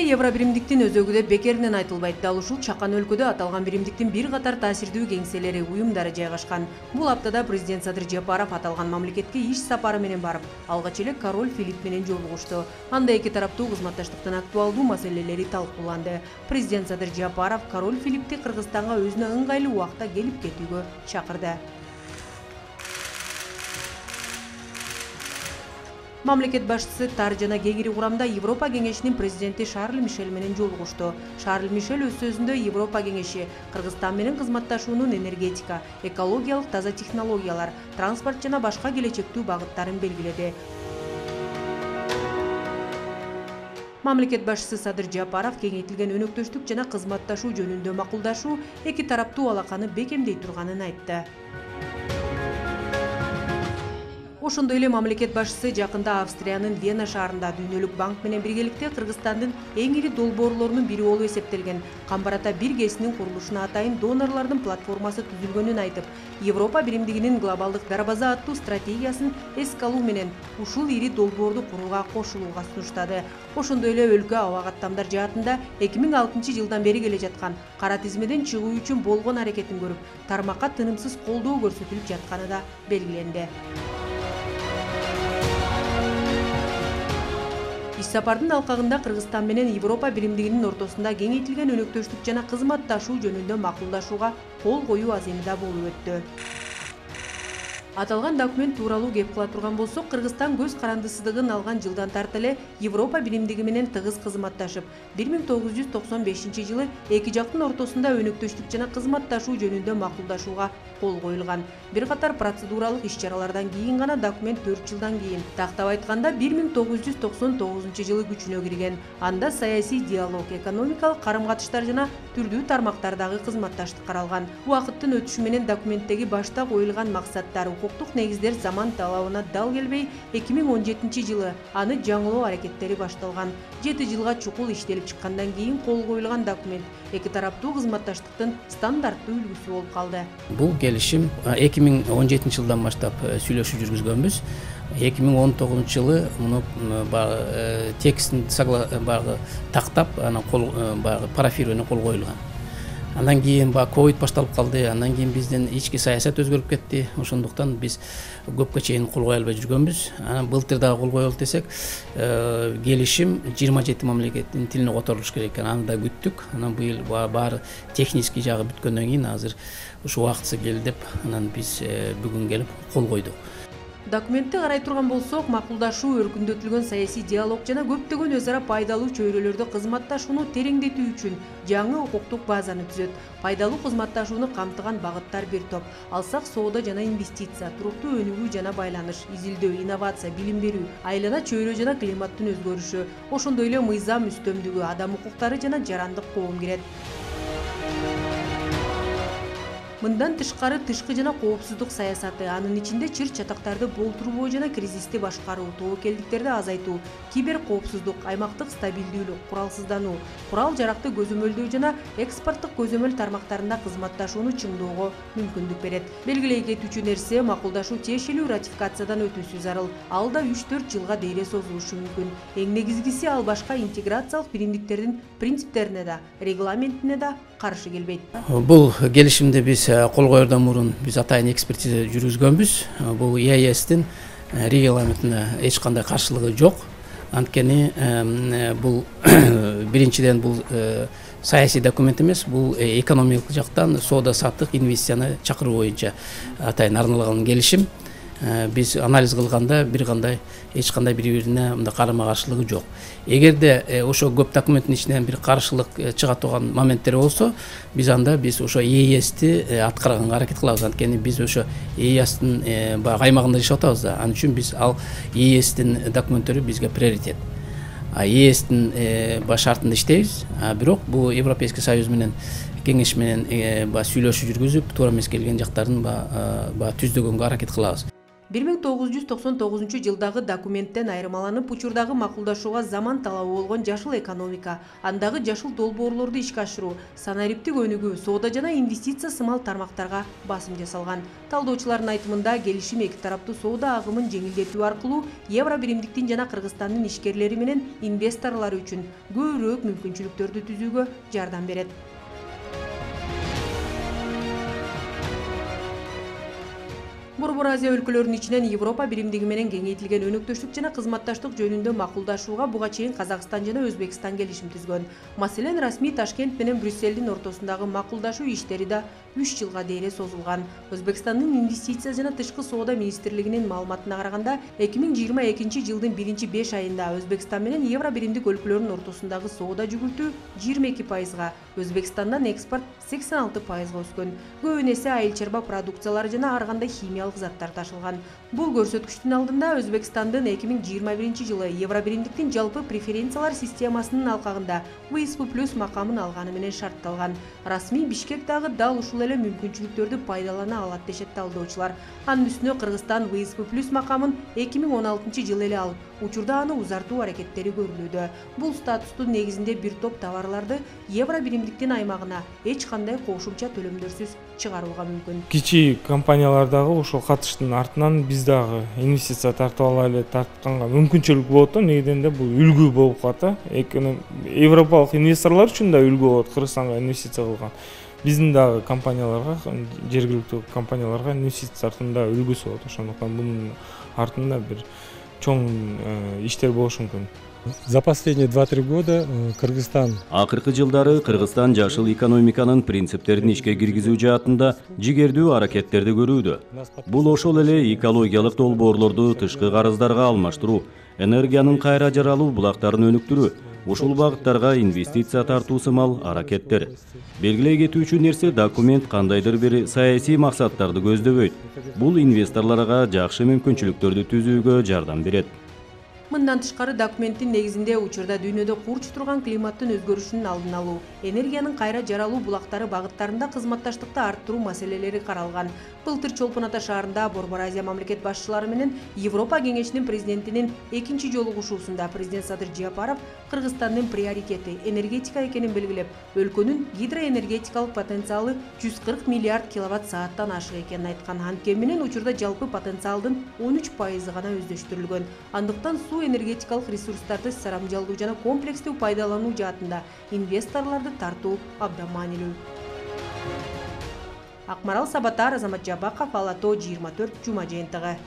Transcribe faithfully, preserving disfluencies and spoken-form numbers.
евро биримдиктин өзөгү деп бекеринен айтылбайт. Дал ушул чакан өлкөдө аталган биримдиктин бир катар таасирдүү кеңселери, уюмдары жайгашкан. Бул аптада президент Садыр Жапаров аталган мамлекетке иш сапары менен барып, алгач эле король Филипп менен жолугушту. Анда эки тараптуу кызматташтыктын актуалдуу маселелери талкууланды. Президент Садыр Жапаров король Филиппти Кыргызстанга өзүнө ыңгайлуу убакта келип кетүүгө чакырды. Мамлекет башчысы тар жана кеңири курамда Европа кеңешинин президенти Шарль Мишель менен жолугушту. Шарль Мишель өз сөзүндө Европа кеңеши Кыргызстан менен кызматташуунун энергетика, экологиялык таза технологиялар, транспорт жана башка келечектүү багыттарын белгиледи. Мамлекет башчысы Садыр Жапаров кеңейтилген өнөктөштүк жана кызматташуу жөнүндө макулдашуу эки тараптуу алаканы бекемдей турганын айтты. Ошондой эле мамлекет башчысы жакында Австриянын Вена шаарында Дүйнөлүк банк менен биргеликте Кыргызстандын эң ири долбоорлорунун бири болуп эсептелген Камбарата бир КЭСинин курулушуна атайын донорлордун платформасы түзүлгөнүн айтып, Европа биримдигинин глобалдык дарбаза аттуу стратегиясын эске алуу менен ушул ири долбоорду курууга кошулууга сунуштады. Ошондой эле өлкө аба каттамдар жаатында эки миң алтынчы жылдан бери келе жаткан кара тизмеден чыгуу үчүн болгон аракетин көрүп, тармакка тынымсыз колдоо көрсөтүлүп жатканы да белгиленди. Иш сапардын алкагында Кыргызстан менен Европа биримдигинин ортосунда кеңейтилген өнөктөштүк жана кызматташуу жөнүндө макулдашууга кол коюу аземида болуп өттү. Аталган документ тууралуу кеп кыла турган болсок, Кыргызстан көз карандысыздыгын алган жылдан тарта эле Европа биримдиги менен тыгыз кызматташып, бир миң тогуз жүз токсон бешинчи жылы эки жактын ортосунда өнөктөштүк жана кызматташуу жөнүндө макулдашууга кол коюлган. Бир катар процедуралык иш-чаралардан кийин гана документ төрт жылдан кийин, тактап айтканда бир миң тогуз жүз токсон тогузунчу жылы күчүнө кирген. Анда саясий диалог, экономикалык карым-катыштар жана түрдүү тармактардагы кызматташтык каралган. Убакыттын өтүшү менен документтеги башта коюлган максаттар, укуктук негиздер заман талабына дал келбей, эки миң он жетинчи жылы аны жаңылоо аракеттери башталган. жети жылга чукул иштелип чыккандан кийин кол коюлган документ эки тараптуу кызматташтыктын стандарттуу үлгүсү болуп калды. Бул келишим эки миң он жетинчи жылдан баштап сүйлөшүү жүргүзгөнбүз. эки миң он тогузунчу жылы муну текстин багы тактап, анан кол парафирование кол коюлган. Андан кийин ба ковид башталып калды, андан кийин биздин ички саясат өзгөрүп кетти. Ошондуктан биз көпкө чейин кол кое албай жүргөнбүз. Анан былтыр дагы кол коелу десек, келишим жыйырма жети мамлекеттин тилине которулуш керек экен. Аны да күттүк. Анан быйыл баары технический жагы бүткөндөн кийин азыр ушу убактысы келди деп, анан биз бүгүн келип кол койдук. Документти карай турган болсок, макулдашуу, өркүндөтүлгөн саясий диалог жана көптөгөн өз ара пайдалуу чөйрөлөрдө кызматташууну тереңдетүү үчүн жаңы укуктук базаны түзөт. Пайдалуу кызматташууну камтыган багыттар бир топ. Алсак соода жана инвестиция, туруктуу өнүгүү жана байланыш, изилдөө, инновация, билим берүү, айлана чөйрө жана климаттын өзгөрүшү, ошондой эле мыйзам үстөмдүгү, адам укуктары жана жарандык коом кирет. Мындан тышкары тышкы жана коопсуздук саясаты, анын ичинде чыр-чатактарды болтурбоо жана кризисти башкаруу, тобокелдиктерди азайтуу, кибер коопсуздук, аймактык стабилдүүлүк, куралсыздануу, курал-жаракты көзөмөлдөө жана экспорттук көзөмөл тармактарында кызматташууну чыңдоого мүмкүндүк берет. Белгилей кетүүчү нерсе, макулдашуу тиешелүү ратификациядан өтүүсү зарыл. Ал да үч төрт жылга дейре созулушу мүмкүн. Эң негизгиси, ал башка интеграциялык биримдиктердин принциптерине да, регламентине да каршы келбейт. Бул келишимди биз кол коердон мурун биз атайын экспертиза жүргүзгөнбүз. Бул и а эстин регламентине эч кандай каршылыгы жок. Анткени бул биринчиден бул саясий документ эмес, бул экономикалык жактан соода саттык, инвестицияны чакыруу боюнча атайын арналган келишим. Биз анализ кылганда бир кандай эч кандай бири-бирине мындай карама-каршылыгы жок. Эгерде ошо көп документтин ичинен бир каршылык чыга турган моменттер болсо, биз анда биз ошо и а эсти аткарганга аракет кылабыз. Анткени биз ошо и а эстин баягы аймагында жашап атабыз да. Анын үчүн биз ал и а эстин документтери бизге приоритет. А и а эстин шартында иштейбиз. Бирок бул Европейский Союз менен кеңеш менен сүйлөшүү жүргүзүп, туура эмес келген жактарын түздөгөнгө аракет кылабыз. бир миң тогуз жүз токсон тогузунчу жылдагы документтен айырмаланып, учурдагы макулдашууга заман талабы болгон жашыл экономика, андагы жашыл долбоорлорду ишке ашыруу, санариптик өнүгүү, соода жана инвестиция сымал тармактарга басым жасалган. Талдоочулардын айтымында, келишим эки тараптуу соода агымын жеңилдетүү аркылуу Евро биримдиктин жана Кыргызстандын ишкерлери менен инвесторлору үчүн көбүрөөк мүмкүнчүлүктөрдү түзүүгө жардам берет. Борбор Азия өлкөлөрүнүн ичинен Европа биримдиги менен кеңейтилген өнөктөштүк жана кызматташтык жөнүндө макулдашууга буга чейин Казакстан жана Өзбекстан келишим түзгөн. Маселен, расмий Ташкент менен Брюссельдин ортосундагы макулдашуу иштери да үч жылга дейре созулган. Өзбекстандын инвестиция жана тышкы соода министрлигинин маалыматына караганда, эки миң жыйырма экинчи жылдын биринчи беш айында Өзбекстан менен Евро биримдик өлкөлөрүнүн ортосундагы соода жүгүртүү жыйырма эки пайызга, Өзбекстандан экспорт сексен алты пайызга өскөн. Көбүн эсе айыл чарба продукциялары жана ар кандай химиялык заттар ташылган. Бул көрсөткүчтүн алдында Өзбекстандын эки миң жыйырма биринчи жылы Евро биримдиктин жалпы преференциялар системасынын алкагында вэ эс пэ плюс макамын алганы менен шартталган. Расмий Бишкек дагы дал ушул эле мүмкүнчүлүктөрдү пайдалана алат дешет талдоочулар. Анын үстүнө Кыргызстан вэ эс пэ плюс макамын эки миң он алтынчы жылы эле алып, учурда аны узартуу аракеттери көрүлүүдө. Бул статустун негизинде бир топ товарларды Евро биримдиктин аймагына эч кандай кошумча төлөмдөрсүз чыгарууга мүмкүн. Кичи компаниялар дагы ошол катыштын артынан биз дагы инвестиция тартып алайлы, тартканга мүмкүнчүлүк болот да. Негеден бул үлгү болуп калат. Европалык инвесторлор үчүн да үлгү болот, Кыргызстанга инвестиция кылган. Биздин дагы компанияларга, жергиликтүү компанияларга инвестиция тартымында үлгүсү болот. Ошондуктан бунун артында бир чоң иштер болушу мүмкүн. За последние два-три года Кыргызстан акыркы жылдары Кыргызстан жашыл экономиканын принциптерин ишке киргизүү жаатында жигердүү аракеттерди көрүүдө. Бул ошол эле экологиялык долбоорлорду тышкы карыздарга алмаштыруу, энергиянын кайра жаралуу булактарын өнүктүрүү, ушул багыттарга инвестиция тартуу сымал аракеттер. Белгилей кетүүчү нерсе, документ кандайдыр бир саясий максаттарды көздөбөйт. Бул инвесторлорго жакшы мүмкүнчүлүктөрдү түзүүгө жардам берет. Мындан тышкары, документтин негизинде учурда дүйнөдө курч турган климаттын өзгөрүшүнүн алдын алуу, энергиянын кайра жаралуу булактары багыттарында кызматташтыкты арттыруу маселелери каралган. Былтыр Чолпон Ата шаарында Борбор Азия мамлекет башчылары менен Европа кеңешинин президентинин экинчи жолугушуусунда президент Садыр Жапаров Кыргызстандын приоритети энергетика экенин белгилеп, өлкөнүн гидроэнергетикалык потенциалы жүз кырк миллиард киловатт сааттан ашык экенин айткан. Анткени менен учурда жалпы потенциалдын он үч пайызы гана өздөштүрүлгөн. Андыктан суу энергетикалык ресурстарды сарамжалдуу жана комплекстүү пайдалануу жаатында инвесторлорду тартуу абдан маанилүү. Акмарал Сабатар, Азамат Жабаков, Ала Тоо жыйырма төрт жума жыйынтыгы.